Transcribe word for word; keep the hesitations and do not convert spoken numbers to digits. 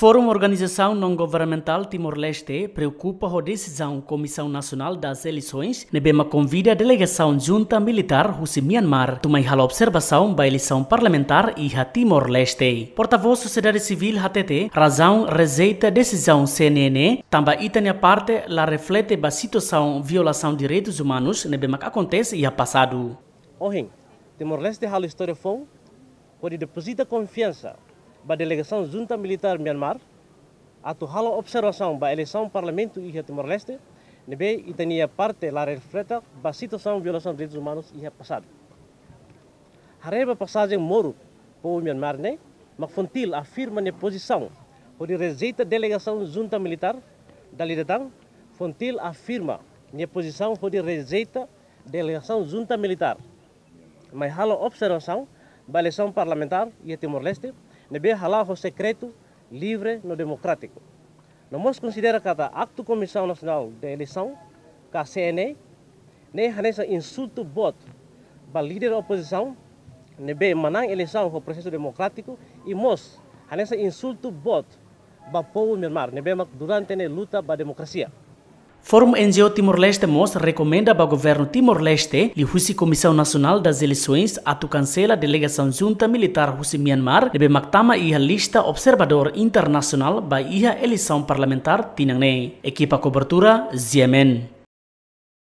Forum Organizasaun Naun Governamentál Timor-Leste preokupa ho desizaun Comissão Nacional das Eleições ne'ebé mak konvida delegasaun junta militár husi Myanmar atu mai halo observasaun ba eleisaun parlamentár iha Timor-Leste. Portavós sosiedade sivíl hatete, razaun rejeita desizaun C N E ne'e tanba ita-nia parte la reflete ba situasaun violasaun direitus umanus ne'ebé mak akontese iha pasadu. Ohin, Timor-Leste halo istória foun hodi depozita konfiansa ba delegasaun junta militár Myanmar atu halo observasaun ba eleisaun parlamentu iha Timor-Leste, ne'ebé ita-nia parte la reflete ba situasaun violasaun direitus umanus iha pasadu. Haree ba pasajen moruk povu Myanmar ne'e, mak FONGTIL afirma nia pozisaun hodi rejeita delegasaun junta militár. Dala ida tan, FONGTIL afirma nia pozisaun hodi rejeita delegasaun junta militár mai halo observasaun ba eleisaun parlamentár iha Timor-Leste, ne'ebé hala'o ho sekretu, livre no demokrátiku. No mós konsidera katak aktu Comissão Nacional de Eleição, ka C N E, ne'e hanesan insultu boot ba líder opozisaun ne'ebé manán eleisaun ho prosesu demokrátiku, i mós hanesan insultu boot ba povu Myanmar ne'ebé mak durante ne'e luta ba demokrasia. Forum N G O Timor-Leste mós rekomenda ba governu Timor-Leste liuhusi Comissão Nacional das Eleições atu kansela delegasaun junta militár husi Myanmar ne'ebé mak tama iha lista observadór internasionál ba iha eleisaun parlamentár tinan ne'e. Ekipa kobertura, Z M N.